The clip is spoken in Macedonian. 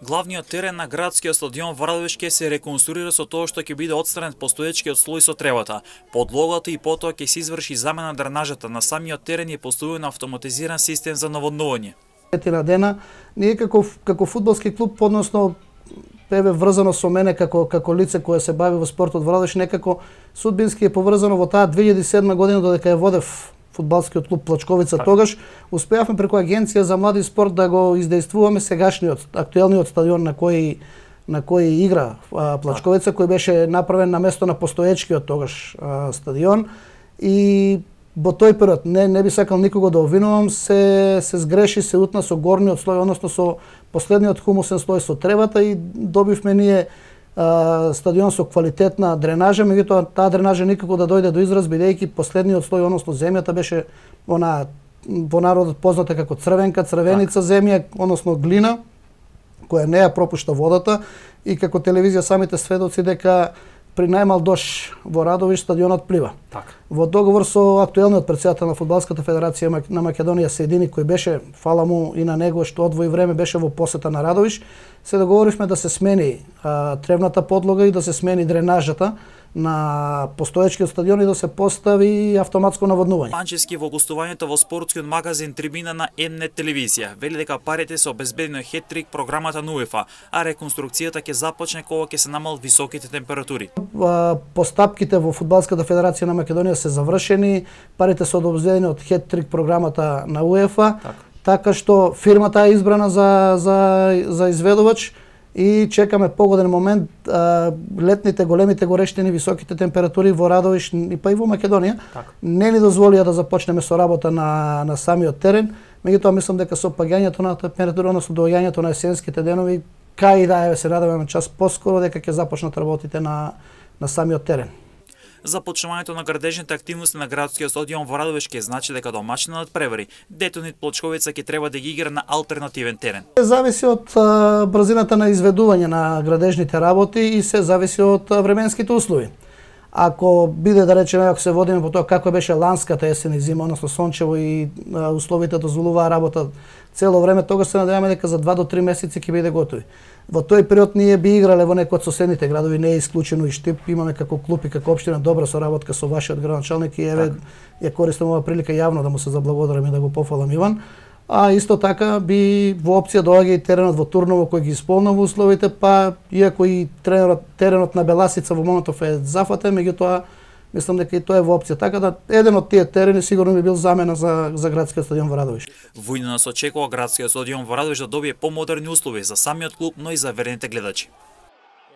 Главниот терен на градскиот стадион во Радовиш ќе се реконструира со тоа што ќе биде отстранет постоечкиот слој со тревата, подлогата и потоа ќе се изврши замена дренажата на самиот терен и поставуван автоматизиран систем за наводнување. На дена ние како фудбалски клуб, односно еве врзано со мене како лице кое се бави во спортот во Радовиш, некако судбински е поврзано во таа 2007 година додека ја водев фудбалскиот клуб Плачковица. Тогаш успеавме преку агенција за млади спорт да го издействуваме сегашниот актуелниот стадион на кој игра Плачковица, кој беше направен на место на постоечкиот тогаш стадион. И во тој период не би сакал никого да обвинувам, се сгреши, се утна со горниот слој, односно со последниот хумусен слој со тревата и добивме ние стадион со квалитетна дренажа, меѓутоа таа дренажа никако да дојде до израз, бидејќи последниот слој, односно земјата, беше она во народот позната како црвеница земја, односно глина, која не ја пропушта водата, и како телевизија самите сведоци дека при најмал дош во Радовиш стадионот плива. Во договор со актуелниот претседател на Фудбалската федерација на Македонија Сејдини, кој беше, фала му и на него што одвои време беше во посета на Радовиш, се договоривме да се смени тревната подлога и да се смени дренажата на постоечкиот стадион и да се постави автоматско наводнување. Панчевски во гостувањето во спортскиот магазин Трибина на М-нет телевизија вели дека парите се обезбедени од хет-трик програмата на УЕФА, а реконструкцијата ќе започне кога ќе се намалат високите температури. Постапките во Фудбалската федерација на Македонија се завршени, парите се обезбедени од хет-трик програмата на УЕФА, така што фирмата е избрана за изведувач и чекаме погоден момент летните големите горештини, високите температури во Радовиш и па и во Македонија не ни дозволија да започнеме со работа на самиот терен, меѓутоа мислам дека со паѓањето на температура, односно доаѓањето на есенските денови, кај да се надеваме час поскоро дека ќе започнат работите на самиот терен. Започнувањето на градежните активности на градскиот стадион во Радовиш ќе значи дека домаќинот превари, Детонит Плачковица ќе треба да ги игра на алтернативен терен. Зависи од брзината на изведување на градежните работи и се зависи од временските услови. Ако биде, да речеме, ако се водиме по тоа како беше ланската есен и зима, односно сончево и условите дозволуваа работа цело време, тогаш се надеваме дека за 2 до 3 месеци ќе биде готови. Во тој период ние би играле во некој од соседните градови, не е исклучено и Штип, имаме како клуб и како општина добра соработка со вашиот градоначалник и еве ја користам оваа прилика јавно да му се заблагодарам и да го пофалам Иван. А исто така би во опција доаѓа и теренот во Турново кој ги исполнува условите, па иако и теренот на Беласица во моментов е зафатен, меѓутоа мислам дека и тоа е во опција. Така да еден од тие терени сигурно би бил замена за градскиот стадион во Радовиш. Во иднина се очекува градскиот стадион во Радовиш да добие помодерни услови за самиот клуб, но и за верните гледачи.